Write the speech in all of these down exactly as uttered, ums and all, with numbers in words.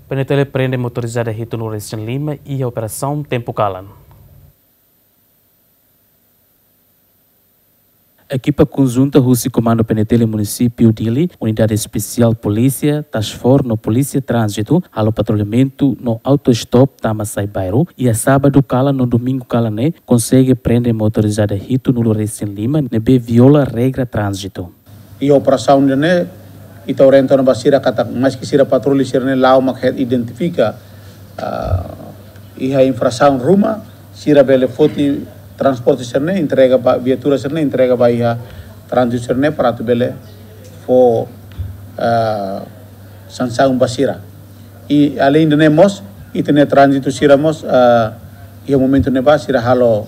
PNTL prende motorizada hitunulu-resin-lima iha operasaun tempu kalan. Ekipa konjunta husi Komandu PNTL Munisípiu Dili, Unidade Espesiál Polísia, Task Force no Polísia Tránzitu halo patrullamentu no auto-stop tama sai bairru iha sábadu kalan no domingu kalan ne'e konsege prende motorizada hitunulu-resin-lima ne'ebé viola regra tránzitu. Iha operasaun ida-ne'e, ita orienta ona ba sira katak maski sira patrullu sira-ne'e la'o mak het identifika, ah, iha infrasaun ruma, sira bele foti transporte sira-ne'e entrega ba, viatura sira-ne'e entrega ba iha tránzitu sira-ne'e para atu bele fó, ah, sansaun ba sira. I além de ne'e mós, ita-nia tránzitu sira mós, ah, iha momentu ne'ebá sira halo,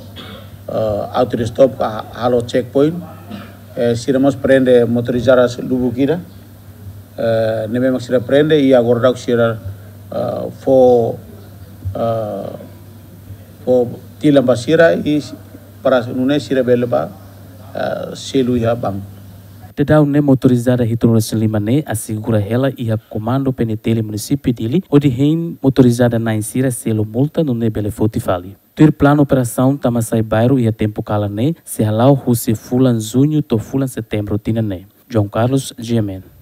ah, auto-stop ka halo checkpoint. Eh, sira mós prende motorizada lubuk ida. Eh, ne'ebé mak sira prende i agora daudauk sira, eh, fó, eh, fó tilan ba sira i para nune'e sira bele bá, eh, selu iha banku. Daudaun ne'e motorizada hitunulu-resin-lima ne'e asegura hela iha Komandu PNTL Munisípiu Dili hodi hein motorizada na'in sira selu multa nune'e bele foti fali. Tuir planu operasaun tama sai bairru iha tempu kalan ne'e sei hala'o husi fulan Juñu to'o fulan Setembru tinan ne'e. João Carlos, GMN.